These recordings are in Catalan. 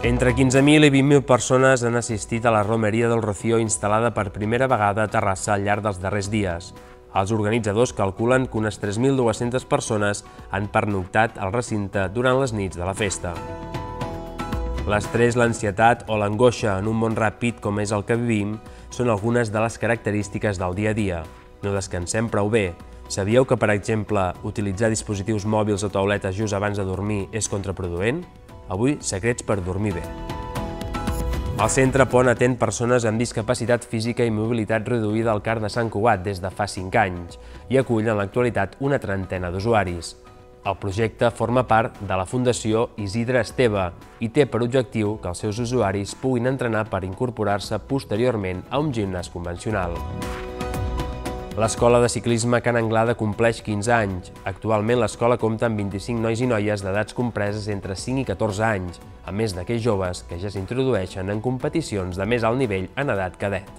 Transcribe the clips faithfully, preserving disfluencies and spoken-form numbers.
Entre quinze mil i vint mil persones han assistit a la Romeria del Rocío instal·lada per primera vegada a Terrassa al llarg dels darrers dies. Els organitzadors calculen que unes tres mil dues-centes persones han pernoctat al recinte durant les nits de la festa. L'estrès, l'ansietat o l'angoixa en un món ràpid com és el que vivim són algunes de les característiques del dia a dia. No descansem prou bé. Sabíeu que, per exemple, utilitzar dispositius mòbils o tauletes just abans de dormir és contraproduent? Avui, secrets per dormir bé. El Centre Pont atén persones amb discapacitat física i mobilitat reduïda al C A R de Sant Cugat des de fa cinc anys i acull en l'actualitat una trentena d'usuaris. El projecte forma part de la Fundació Isidre Esteve i té per objectiu que els seus usuaris puguin entrenar per incorporar-se posteriorment a un gimnàs convencional. L'Escola de Ciclisme Can Anglada compleix quinze anys. Actualment l'escola compta amb vint-i-cinc nois i noies d'edats compreses entre cinc i catorze anys, a més d'aquells joves que ja s'introdueixen en competicions de més alt nivell en edat cadet.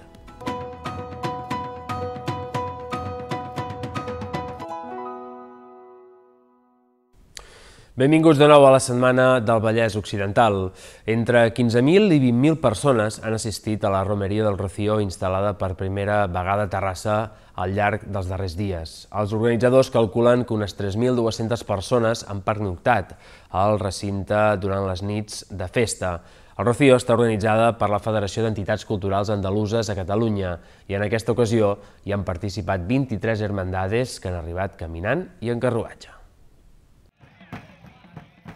Benvinguts de nou a la Setmana del Vallès Occidental. Entre quinze mil i vint mil persones han assistit a la Romeria del Rocío instal·lada per primera vegada a Terrassa al llarg dels darrers dies. Els organitzadors calculen que unes tres mil dues-centes persones han pernoctat al recinte durant les nits de festa. El Rocío està organitzada per la Federació d'Entitats Culturals Andaluses a Catalunya i en aquesta ocasió hi han participat vint-i-tres hermandades que han arribat caminant i en carruatge.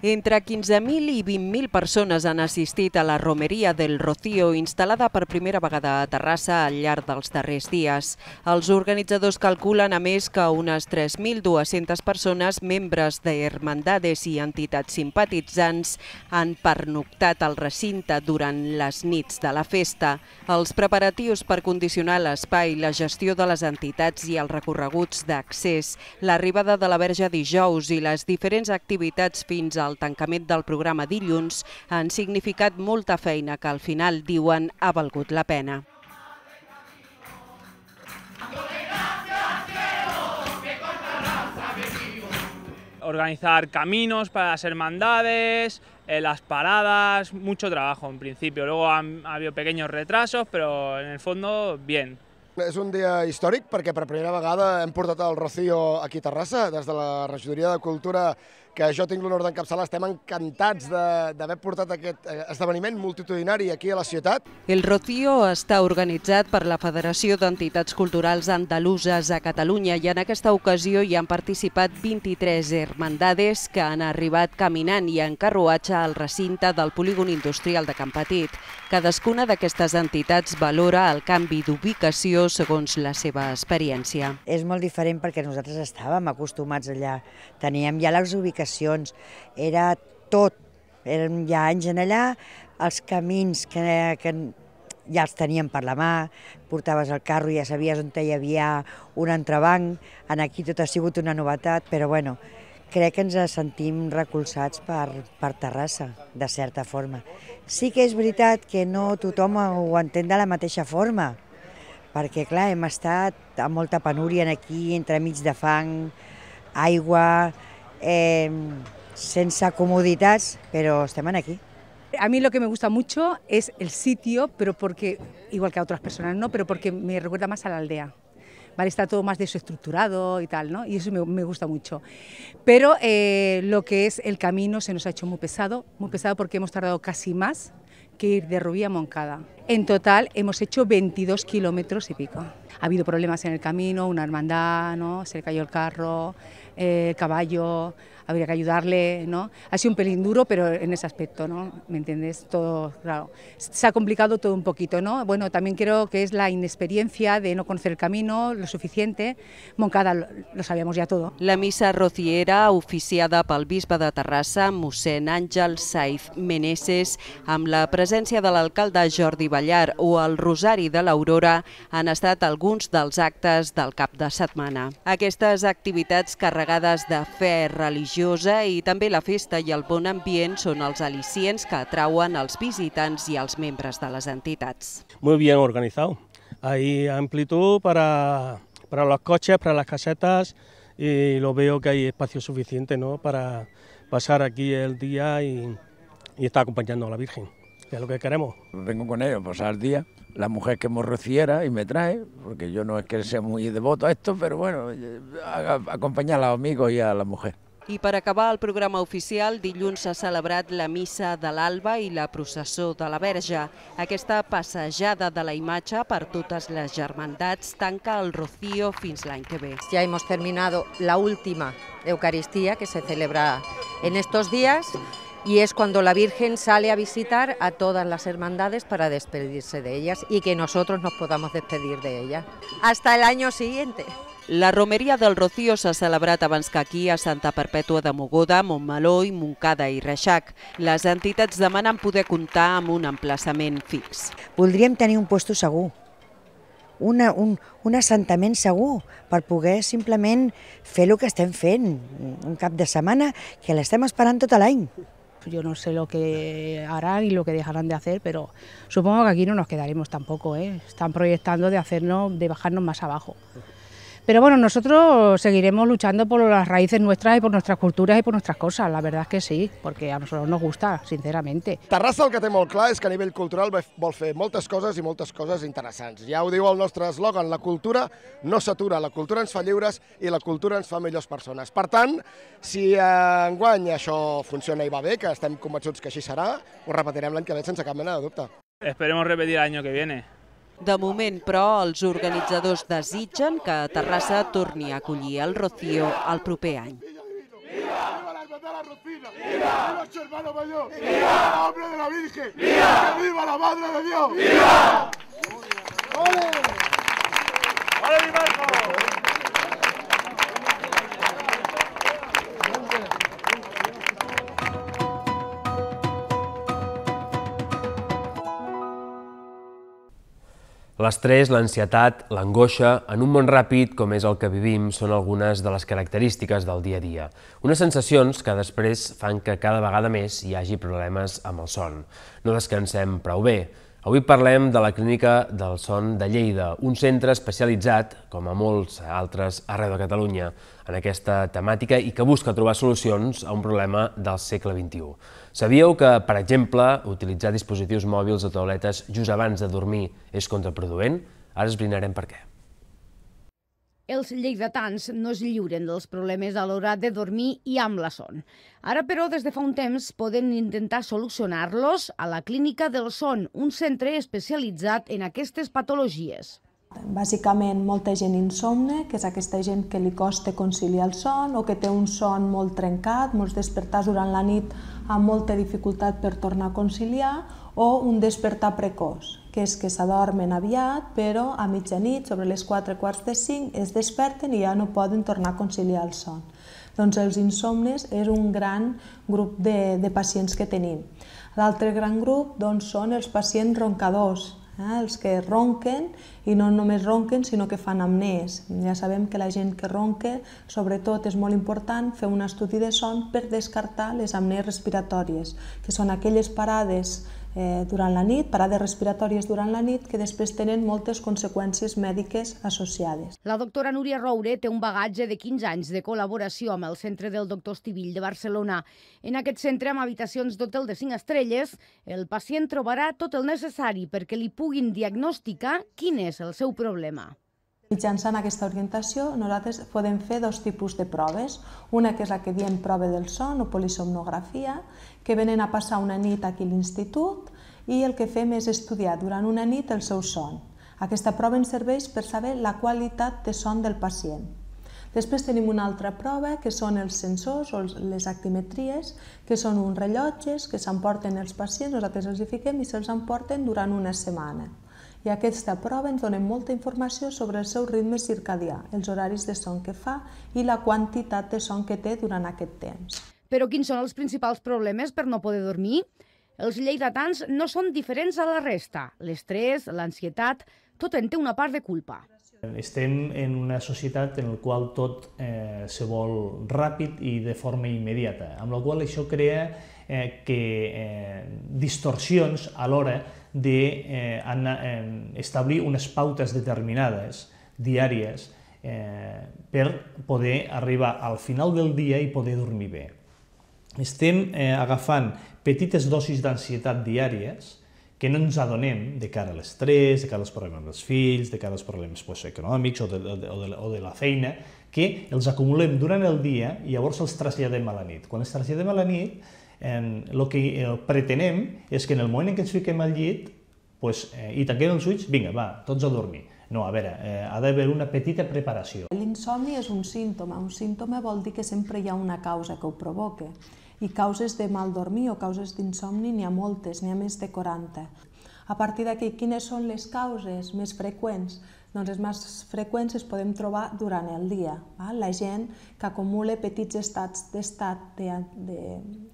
Entre quinze mil i vint mil persones han assistit a la Romeria del Rocío instal·lada per primera vegada a Terrassa al llarg dels darrers dies. Els organitzadors calculen, a més, que unes tres mil dues-centes persones, membres d'hermandades i entitats simpatitzants, han pernoctat al recinte durant les nits de la festa. Els preparatius per condicionar l'espai, la gestió de les entitats i els recorreguts d'accés, l'arribada de la Verge dijous i les diferents activitats fins al El tancament del programa dilluns han significat molta feina que al final, diuen, ha valgut la pena. Organizar caminos para las hermandades, eh, las paradas, mucho trabajo en principio. Luego han, ha habido pequeños retrasos, pero en el fondo, bien. És un dia històric perquè per primera vegada hem portat el Rocío aquí a Terrassa, des de la Regidoria de Cultura, que jo tinc l'honor d'encapçalar. Estem encantats d'haver portat aquest esdeveniment multitudinari aquí a la ciutat. El Rocío està organitzat per la Federació d'Entitats Culturals Andaluses a Catalunya i en aquesta ocasió hi han participat vint-i-tres hermandades que han arribat caminant i en carruatge al recinte del polígon industrial de Can Petit. Cadascuna d'aquestes entitats valora el canvi d'ubicació segons la seva experiència. És molt diferent perquè nosaltres estàvem acostumats allà, teníem ja les ubicacions, era tot, érem ja anys en allà, els camins que, que ja els teníem per la mà, portaves el carro i ja sabies on hi havia un entrebanc, aquí tot ha sigut una novetat, però bueno, crec que ens sentim recolzats per, per Terrassa, de certa forma. Sí que és veritat que no tothom ho entén de la mateixa forma, perquè clar, hem estat amb molta penúria aquí, entremig de fang, aigua, eh, sense comoditats, pero estem aquí. A mí lo que me gusta mucho es el sitio, pero porque, igual que a otras personas, ¿no? Pero porque me recuerda más a la aldea. Vale, está todo más desestructurado y tal, ¿no? Y eso me, me gusta mucho. Pero eh, lo que es el camino se nos ha hecho muy pesado, muy pesado porque hemos tardado casi más que ir de Rubí a Moncada. En total hemos hecho veintidós kilómetros y pico. Ha habido problemas en el camino, una hermandad, ¿no? Se le cayó el carro, eh, el caballo, habría que ayudarle, ¿no? Ha sido un pelín duro, pero en ese aspecto, ¿no? ¿Me entiendes? Todo, claro. Se ha complicado todo un poquito, ¿no? Bueno, también creo que es la inexperiencia de no conocer el camino lo suficiente. Moncada lo, lo sabíamos ya todo. La missa rociera, oficiada pel bisbe de Terrassa, mossèn Àngel Saiz Meneses, amb la presència de l'alcalde Jordi Ballar o el Rosari de l'Aurora, han estat alguns dels actes del cap de setmana. Aquestes activitats carregades de fe religiosa i també la festa i el bon ambient són els al·licients que atrauen els visitants i els membres de les entitats. Muy bien organizado. Hay amplitud para, para los coches, para las casetas y lo veo que hay espacio suficiente, ¿no? Para pasar aquí el día y, y estar acompañando a la Virgen. que es lo que queremos. Vengo con ellos a pasar el día, la mujer que me rociera y me trae, porque yo no es que sea muy devoto a esto, pero bueno, acompanyar a los amigos y a la mujer. I per acabar el programa oficial, dilluns s'ha celebrat la missa de l'Alba i la processó de la Verge. Aquesta passejada de la imatge per totes les germandats tanca el Rocío fins l'any que ve. Ya hemos terminado la última Eucaristía que se celebra en estos días y es cuando la Virgen sale a visitar a todas las hermandades para despedirse de ellas y que nosotros nos podamos despedir de ellas. Hasta el año siguiente. La romeria del Rocío s'ha celebrat abans que aquí a Santa Perpètua de Mogoda, Montmeló, Montcada i Reixac. Les entitats demanen poder comptar amb un emplaçament fix. Voldríem tenir un puesto segur, una, un, un assentament segur, per poder simplement fer el que estem fent, un cap de setmana que l'estem esperant tot l'any. Yo no sé lo que harán y lo que dejarán de hacer, pero supongo que aquí no nos quedaremos tampoco, ¿eh? Están proyectando de hacernos, de bajarnos más abajo. Pero bueno, nosotros seguiremos luchando por las raíces nuestras y por nuestras culturas y por nuestras cosas, la verdad es que sí, porque a nosotros nos gusta, sinceramente. Terrassa el que té molt clar és que a nivell cultural vol fer moltes coses i moltes coses interessants. Ja ho diu el nostre eslògan, la cultura no s'atura, la cultura ens fa lliures i la cultura ens fa millors persones. Per tant, si enguany això funciona i va bé, que estem convençuts que així serà, ho repetirem l'any que ve sense cap mena de dubte. Esperemos repetir el año que viene. De moment, però, els organitzadors desitgen que Terrassa torni a acollir el Rocío el proper any. ¡Viva la hermandad de la Rocina! ¡Viva su hermano mayor! ¡Viva el nombre de la Virgen! ¡Que viva la Madre de Dios! ¡Viva! ¡Ole! ¡Ole, mi Marco! L'estrès, l'ansietat, l'angoixa, en un món ràpid com és el que vivim, són algunes de les característiques del dia a dia. Unes sensacions que després fan que cada vegada més hi hagi problemes amb el son. No descansem prou bé. Avui parlem de la Clínica del Son de Lleida, un centre especialitzat, com a molts altres arreu de Catalunya, en aquesta temàtica i que busca trobar solucions a un problema del segle vint-i-u. Sabíeu que, per exemple, utilitzar dispositius mòbils o tauletes just abans de dormir és contraproduent? Ara esbrinarem per què. Els lleidatans no es lliuren dels problemes a l'hora de dormir i amb la son. Ara, però, des de fa un temps, poden intentar solucionar-los a la Clínica del Son, un centre especialitzat en aquestes patologies. Bàsicament, molta gent insomne, que és aquesta gent que li costa conciliar el son o que té un son molt trencat, molts despertars durant la nit amb molta dificultat per tornar a conciliar, o un despertar precoç, que és que s'adormen aviat, però a mitjanit, sobre les quatre quarts de cinc, es desperten i ja no poden tornar a conciliar el son. Doncs els insomnes és un gran grup de, de pacients que tenim. L'altre gran grup doncs, són els pacients roncadors, eh? els que ronquen i no només ronquen sinó que fan apnès. Ja sabem que la gent que ronca, sobretot és molt important fer un estudi de son per descartar les apnès respiratòries, que són aquelles parades Eh, durant la nit, parades respiratòries durant la nit, que després tenen moltes conseqüències mèdiques associades. La doctora Núria Roure té un bagatge de quinze anys de col·laboració amb el Centre del Doctor Estivill de Barcelona. En aquest centre, amb habitacions d'hotel de cinc estrelles, el pacient trobarà tot el necessari perquè li puguin diagnosticar quin és el seu problema. Mitjançant aquesta orientació, nosaltres podem fer dos tipus de proves. Una que és la que diem prova del son o polisomnografia, que venen a passar una nit aquí a l'institut i el que fem és estudiar durant una nit el seu son. Aquesta prova ens serveix per saber la qualitat de son del pacient. Després tenim una altra prova, que són els sensors o les actimetries, que són uns rellotges que s'emporten els pacients, nosaltres els hi fiquem i se'ls emporten durant una setmana. I aquesta prova ens dona molta informació sobre el seu ritme circadià, els horaris de son que fa i la quantitat de son que té durant aquest temps. Però quins són els principals problemes per no poder dormir? Els lleidatans no són diferents a la resta. L'estrès, l'ansietat, tot en té una part de culpa. Estem en una societat en la qual tot eh, se vol ràpid i de forma immediata, amb la qual això crea eh, que eh, distorsions a l'hora d'establir eh, unes pautes determinades, diàries, eh, per poder arribar al final del dia i poder dormir bé. Estem eh, agafant petites dosis d'ansietat diàries que no ens adonem de cara a l'estrès, de cara als problemes dels fills, de cara als problemes pues, econòmics o de, o, de, o de la feina, que els acumulem durant el dia i llavors els traslladem a la nit. Quan els traslladem a la nit, el que pretenem és que en el moment en què ens fiquem al llit pues, eh, i tanquem els ulls, vinga, va, tots a dormir. No, a veure, eh, ha d'haver una petita preparació. L'insomni és un símptoma. Un símptoma vol dir que sempre hi ha una causa que ho provoca. I causes de mal dormir o causes d'insomni n'hi ha moltes, n'hi ha més de quaranta. A partir d'aquí, quines són les causes més freqüents? Doncs les més freqüents es podem trobar durant el dia. La gent que acumula petits estats d'estat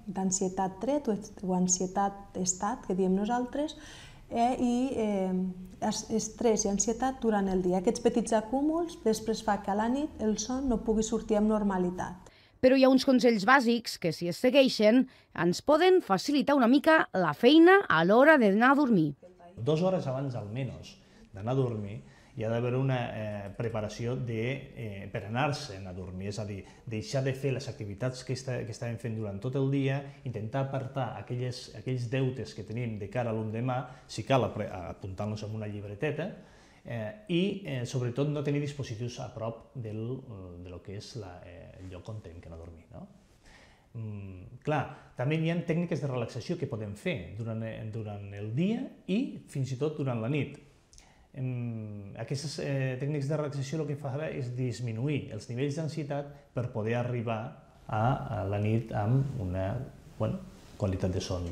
d'ansietat tret o ansietat estat, que diem nosaltres, i estrès i ansietat durant el dia. Aquests petits acúmuls després fa que a la nit el son no pugui sortir amb normalitat. Però hi ha uns consells bàsics que, si es segueixen, ens poden facilitar una mica la feina a l'hora d'anar a dormir. Dues hores abans, almenys, d'anar a dormir, hi ha d'haver una eh, preparació de, eh, per anar-se'n a dormir, és a dir, deixar de fer les activitats que, està, que estàvem fent durant tot el dia, intentar apartar aquelles, aquells deutes que tenim de cara a l'endemà, si cal apuntar-nos en una llibreteta, eh, i eh, sobretot no tenir dispositius a prop del, de lo que és la, eh, el lloc on tenim que anar a dormir. No? Mm, clar, també hi ha tècniques de relaxació que podem fer durant, durant el dia i fins i tot durant la nit. Aquestes eh, tècniques de relaxació el que fa és disminuir els nivells d'ansietat per poder arribar a, a la nit amb una bueno, qualitat de son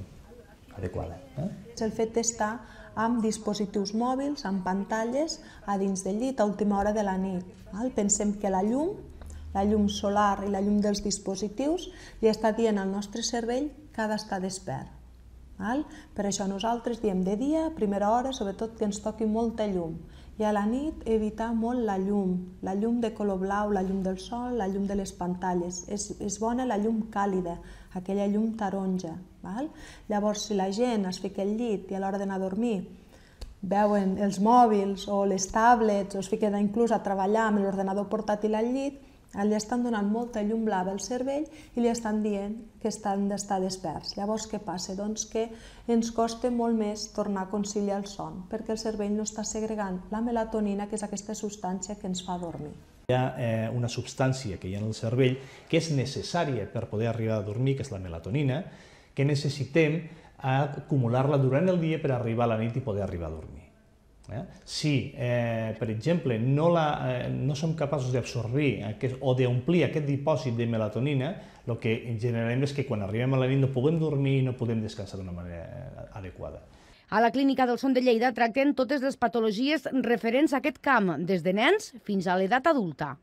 adequada. Eh? El fet d'estar amb dispositius mòbils, amb pantalles, a dins del llit a última hora de la nit. Val? Pensem que la llum, la llum solar i la llum dels dispositius li està dient al nostre cervell que ha d'estar despert. Val? Per això nosaltres diem de dia, a primera hora, sobretot que ens toqui molta llum. I a la nit evitar molt la llum, la llum de color blau, la llum del sol, la llum de les pantalles. És, és bona la llum càlida, aquella llum taronja. Val? Llavors, si la gent es fica al llit i a l'hora d'anar a dormir veuen els mòbils o les tablets o es fiquen inclús a treballar amb l'ordenador portàtil al llit, li estan donant molta llum blava al cervell i li estan dient que estan d'estar desperts. Llavors, què passa? Doncs que ens costa molt més tornar a conciliar el son, perquè el cervell no està segregant la melatonina, que és aquesta substància que ens fa dormir. Hi ha eh, una substància que hi ha en el cervell que és necessària per poder arribar a dormir, que és la melatonina, que necessitem acumular-la durant el dia per arribar a la nit i poder arribar a dormir. Eh? Si, eh, per exemple, no, la, eh, no som capaços d'absorbir o d'omplir aquest dipòsit de melatonina, el que generarem és que quan arribem a la nit no podem dormir i no podem descansar d'una manera adequada. A la Clínica del Son de Lleida tracten totes les patologies referents a aquest camp, des de nens fins a l'edat adulta.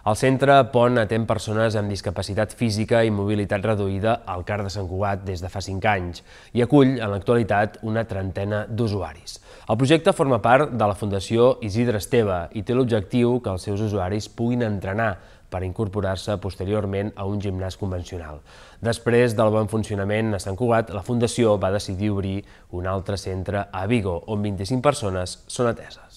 El centre Pont atén persones amb discapacitat física i mobilitat reduïda al CAR de Sant Cugat des de fa cinc anys i acull en l'actualitat una trentena d'usuaris. El projecte forma part de la Fundació Isidre Esteve i té l'objectiu que els seus usuaris puguin entrenar per incorporar-se posteriorment a un gimnàs convencional. Després del bon funcionament a Sant Cugat, la Fundació va decidir obrir un altre centre a Vigo, on vint-i-cinc persones són ateses.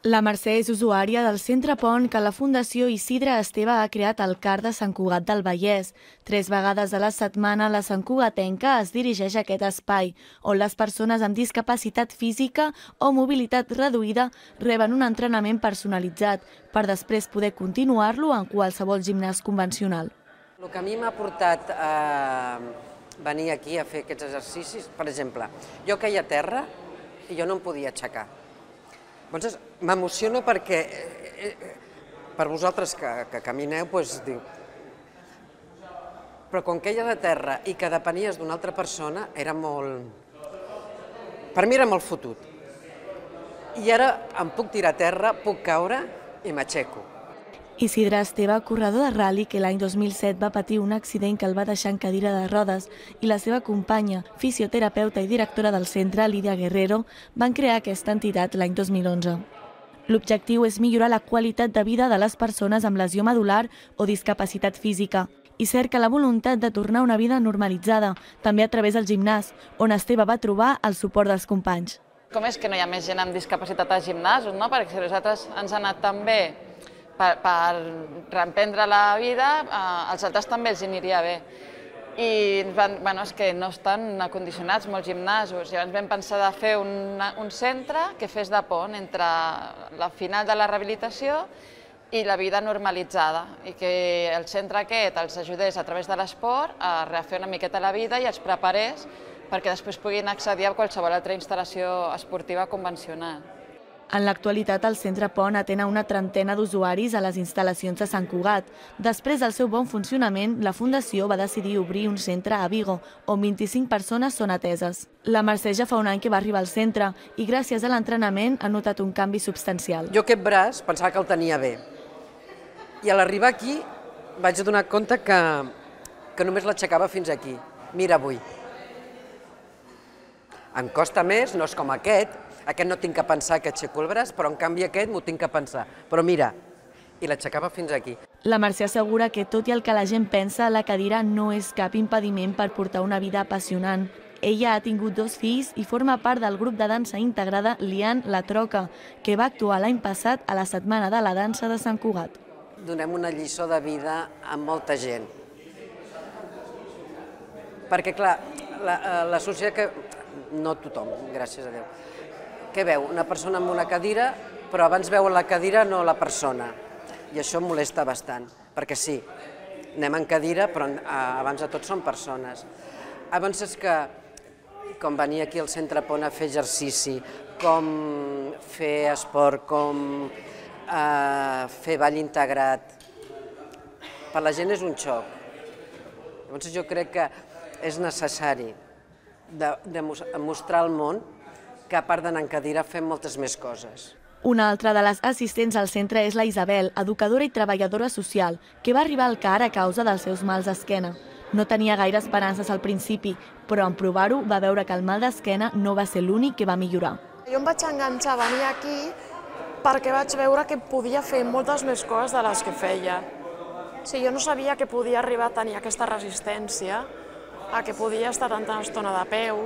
La Mercè és usuària del Centre Pont que la Fundació Isidre Esteve ha creat al CAR de Sant Cugat del Vallès. Tres vegades a la setmana la santcugatenca es dirigeix a aquest espai, on les persones amb discapacitat física o mobilitat reduïda reben un entrenament personalitzat per després poder continuar-lo en qualsevol gimnàs convencional. El que a mi m'ha portat a venir aquí a fer aquests exercicis, per exemple, jo caia a terra i jo no em podia aixecar. Llavors, m'emociona perquè, per vosaltres que camineu, doncs diu... Però quan queies a terra i que depenies d'una altra persona, era molt... Per mi era molt fotut. I ara em puc tirar a terra, puc caure i m'aixeco. Isidre Esteve, corredor de ral·li que l'any dos mil set va patir un accident que el va deixar en cadira de rodes, i la seva companya, fisioterapeuta i directora del centre, Lídia Guerrero, van crear aquesta entitat l'any dos mil onze. L'objectiu és millorar la qualitat de vida de les persones amb lesió medular o discapacitat física i cerca la voluntat de tornar a una vida normalitzada, també a través del gimnàs, on Esteve va trobar el suport dels companys. Com és que no hi ha més gent amb discapacitat als gimnasos, no? Perquè si a nosaltres ens ha anat tan bé per, per reemprendre la vida, eh, als altres també els aniria bé. I van, bueno, és que no estan acondicionats molts gimnasos. Llavors vam pensar de fer un, un centre que fes de pont entre la final de la rehabilitació i la vida normalitzada, i que el centre aquest els ajudés a través de l'esport a refer una miqueta la vida i els preparés perquè després puguin accedir a qualsevol altra instal·lació esportiva convencional. En l'actualitat, el Centre Pont atén a una trentena d'usuaris a les instal·lacions de Sant Cugat. Després del seu bon funcionament, la Fundació va decidir obrir un centre a Vigo, on vint-i-cinc persones són ateses. La Mercè ja fa un any que va arribar al centre i gràcies a l'entrenament ha notat un canvi substancial. Jo aquest braç pensava que el tenia bé i a l'arribar aquí vaig donar compte que, que només l'aixecava fins aquí. Mira avui. Em costa més, no és com aquest, aquest no tinc que pensar que aixeco el braç, però en canvi aquest m'ho tinc que pensar. Però mira, i l'aixecava fins aquí. La Mercè assegura que, tot i el que la gent pensa, la cadira no és cap impediment per portar una vida apassionant. Ella ha tingut dos fills i forma part del grup de dansa integrada Lian La Troca, que va actuar l'any passat a la Setmana de la Dansa de Sant Cugat. Donem una lliçó de vida a molta gent. Perquè, clar, la, la societat que... No tothom, gràcies a Déu. Què veu? Una persona amb una cadira, però abans veu la cadira, no la persona. I això em molesta bastant, perquè sí, anem en cadira, però abans de tot són persones. Abans és que, com venir aquí al Centre Pont a fer exercici, com fer esport, com eh, fer ball integrat, per la gent és un xoc. Llavors jo crec que és necessari de, de mostrar al món que a part d'anar en cadira fem moltes més coses. Una altra de les assistents al centre és la Isabel, educadora i treballadora social, que va arribar al C A R a causa dels seus mals d'esquena. No tenia gaire esperances al principi, però en provar-ho va veure que el mal d'esquena no va ser l'únic que va millorar. Jo em vaig enganxar a venir aquí perquè vaig veure que podia fer moltes més coses de les que feia. Sí, jo no sabia que podia arribar a tenir aquesta resistència, a que podia estar tanta estona de peu.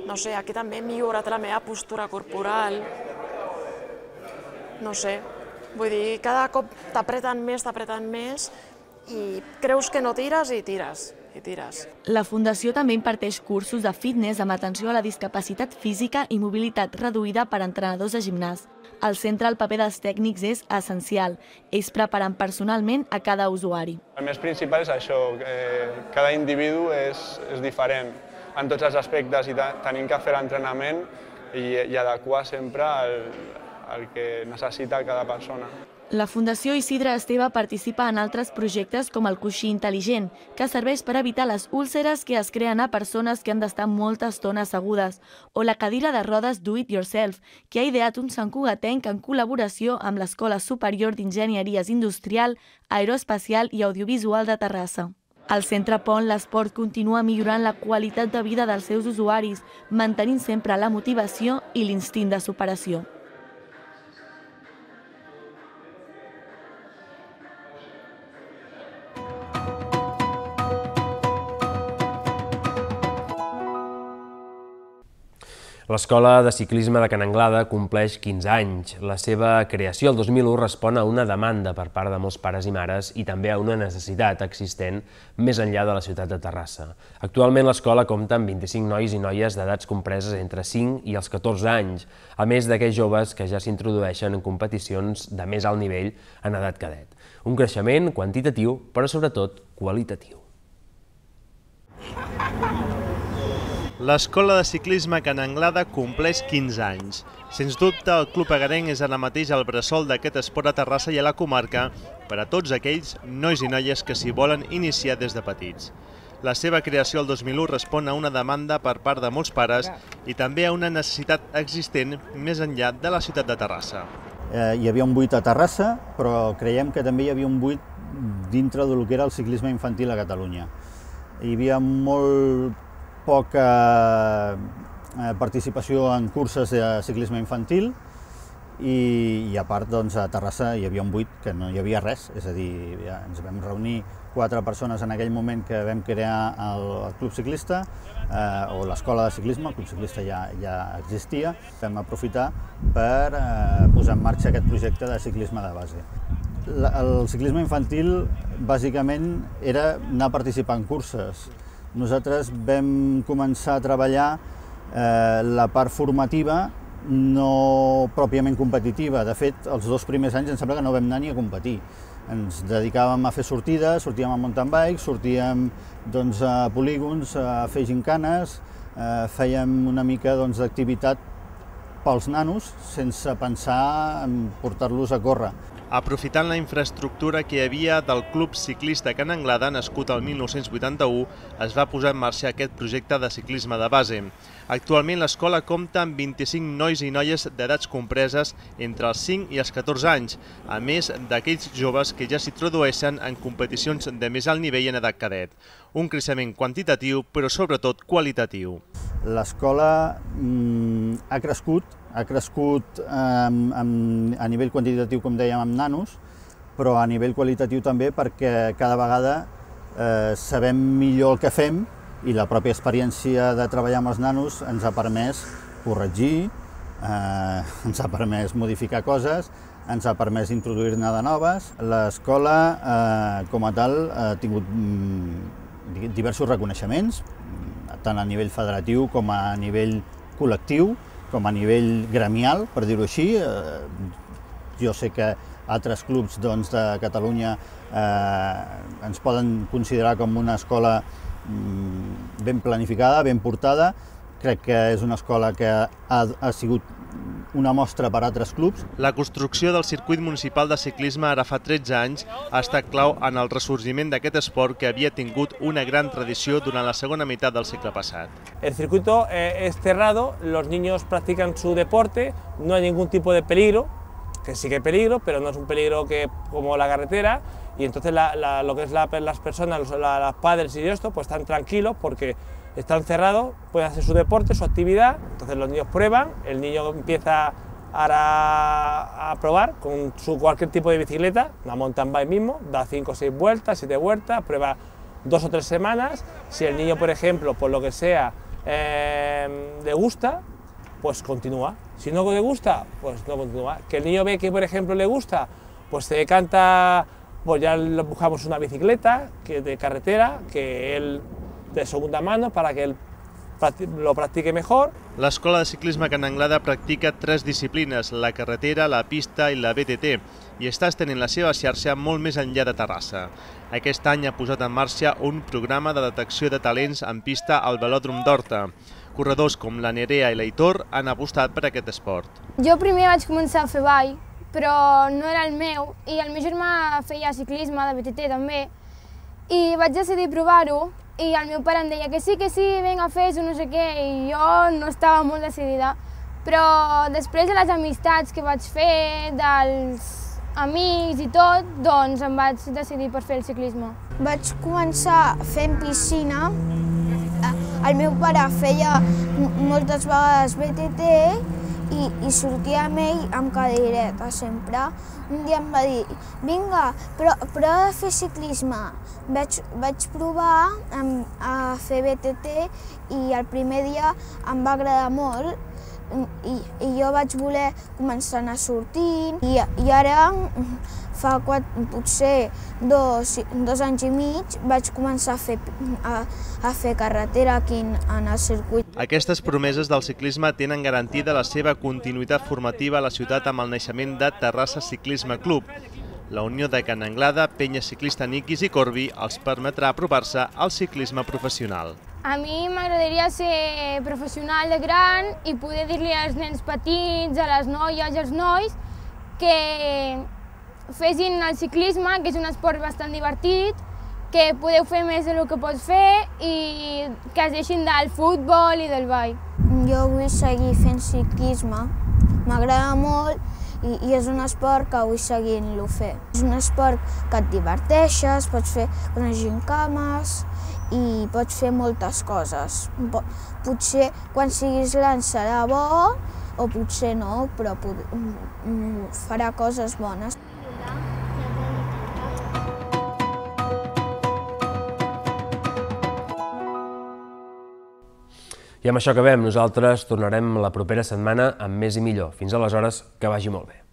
No sé, aquí també he millorat la meva postura corporal. No sé, vull dir, cada cop t'apreten més, t'apreten més i creus que no tires i tires, i tires. La Fundació també imparteix cursos de fitness amb atenció a la discapacitat física i mobilitat reduïda per a entrenadors de gimnàs. Al centre el paper dels tècnics és essencial. Ells preparen personalment a cada usuari. El més principal és això, que cada individu és, és diferent en tots els aspectes i tenim que fer l'entrenament i, i adequar sempre el, el que necessita cada persona. La Fundació Isidre Esteve participa en altres projectes com el coixí intel·ligent, que serveix per evitar les úlceres que es creen a persones que han d'estar molta estona assegudes, o la cadira de rodes Do It Yourself, que ha ideat un santcugatenc en col·laboració amb l'Escola Superior d'Enginyeries Industrial, Aeroespacial i Audiovisual de Terrassa. Al Centre Pont, l'esport continua millorant la qualitat de vida dels seus usuaris, mantenint sempre la motivació i l'instint de superació. L'Escola de Ciclisme de Can Anglada compleix quinze anys. La seva creació el dos mil u respon a una demanda per part de molts pares i mares i també a una necessitat existent més enllà de la ciutat de Terrassa. Actualment l'escola compta amb vint-i-cinc nois i noies d'edats compreses entre cinc i els catorze anys, a més d'aquells joves que ja s'introdueixen en competicions de més alt nivell en edat cadet. Un creixement quantitatiu, però sobretot qualitatiu. L'Escola de Ciclisme Can Anglada compleix quinze anys. Sens dubte, el Club Agarenc és ara mateix el bressol d'aquest esport a Terrassa i a la comarca per a tots aquells nois i noies que s'hi volen iniciar des de petits. La seva creació el dos mil u respon a una demanda per part de molts pares i també a una necessitat existent més enllà de la ciutat de Terrassa. Eh, hi havia un buit a Terrassa, però creiem que també hi havia un buit dintre del que era el ciclisme infantil a Catalunya. Hi havia molt poca participació en curses de ciclisme infantil i, i a part doncs, a Terrassa hi havia un buit que no hi havia res, és a dir, ja ens vam reunir quatre persones en aquell moment que vam crear el, el Club Ciclista eh, o l'escola de ciclisme, el Club Ciclista ja, ja existia, vam aprofitar per eh, posar en marxa aquest projecte de ciclisme de base. La, el ciclisme infantil bàsicament era anar a participar en curses. Nosaltres vam començar a treballar eh, la part formativa no pròpiament competitiva. De fet, els dos primers anys em sembla que no vam anar ni a competir. Ens dedicàvem a fer sortides, sortíem a mountain bike, sortíem doncs, a polígons, a fer gincanes, eh, fèiem una mica doncs, d'activitat pels nanos sense pensar en portar-los a córrer. Aprofitant la infraestructura que hi havia del Club Ciclista Can Anglada, nascut el mil nou-cents vuitanta-u, es va posar en marxa aquest projecte de ciclisme de base. Actualment l'escola compta amb vint-i-cinc nois i noies d'edats compreses entre els cinc i els catorze anys, a més d'aquells joves que ja s'hi introdueixen en competicions de més alt nivell en edat cadet. Un creixement quantitatiu, però sobretot qualitatiu. L'escola mm, ha crescut, ha crescut eh, amb, a nivell quantitatiu, com dèiem, amb nanos, però a nivell qualitatiu també perquè cada vegada eh, sabem millor el que fem i la pròpia experiència de treballar amb els nanos ens ha permès corregir, eh, ens ha permès modificar coses, ens ha permès introduir-ne de noves. L'escola, eh, com a tal, ha tingut mm, diversos reconeixements, tant a nivell federatiu com a nivell col·lectiu, com a nivell gremial, per dir-ho així. Jo sé que altres clubs doncs, de Catalunya eh, ens poden considerar com una escola mm, ben planificada, ben portada. Crec que és una escola que ha, ha sigut una mostra per a altres clubs. La construcció del circuit municipal de ciclisme ara fa tretze anys ha estat clau en el ressorgiment d'aquest esport que havia tingut una gran tradició durant la segona meitat del segle passat. El circuito eh, es cerrado, los niños practican su deporte, no hay ningún tipo de peligro, que sí que hay peligro, pero no es un peligro que, como la carretera, y entonces la, la, lo que es la, las personas, los la, las padres y esto, pues están tranquilos porque están cerrados, pueden hacer su deporte, su actividad, entonces los niños prueban, el niño empieza a, a probar con su cualquier tipo de bicicleta, una mountain bike mismo, da cinco o seis vueltas, siete vueltas, prueba dos o tres semanas. Si el niño, por ejemplo, por lo que sea, eh, le gusta, pues continúa. Si no le gusta, pues no continúa. Que el niño ve que, por ejemplo, le gusta, pues se decanta, pues ya le buscamos una bicicleta que de carretera, que él de segunda mano para que él lo practique mejor. L'escola de ciclisme Can Anglada practica tres disciplines, la carretera, la pista i la B T T, i està estenent la seva xarxa molt més enllà de Terrassa. Aquest any ha posat en marxa un programa de detecció de talents en pista al Velòdrom d'Horta. Corredors com la Nerea i l'Aitor han apostat per aquest esport. Jo primer vaig començar a fer ball, però no era el meu, i el meu germà feia ciclisme, de B T T també, i vaig decidir provar-ho, i el meu pare em deia que sí, que sí, vinga, fes-ho, no sé què, i jo no estava molt decidida. Però després de les amistats que vaig fer, dels amics i tot, doncs em vaig decidir per fer el ciclisme. Vaig començar fent piscina. El meu pare feia moltes vegades B T T i, i sortia amb ell amb cadeireta sempre. Un dia em va dir, vinga, però, prova de fer ciclisme. Vaig, vaig provar a fer B T T i el primer dia em va agradar molt i, i jo vaig voler començar a anar sortint i, i ara fa quatre, potser dos, dos anys i mig vaig començar a fer, a, a fer carretera aquí en el circuit. Aquestes promeses del ciclisme tenen garantida la seva continuïtat formativa a la ciutat amb el naixement de Terrassa Ciclisme Club. La unió de Can Anglada, penya ciclista Niquis i Corbi els permetrà apropar-se al ciclisme professional. A mi m'agradaria ser professional de gran i poder dir-li als nens petits, a les noies i als nois que fessin el ciclisme, que és un esport bastant divertit, que podeu fer més del que pots fer i que es deixin del futbol i del ball. Jo vull seguir fent ciclisme, m'agrada molt i, i és un esport que vull seguir-lo fer. És un esport que et diverteixes, pots fer unes gincames i pots fer moltes coses. Potser quan siguis gran serà bo, o potser no, però farà coses bones. I amb això acabem. Nosaltres tornarem la propera setmana amb més i millor. Fins aleshores, que vagi molt bé.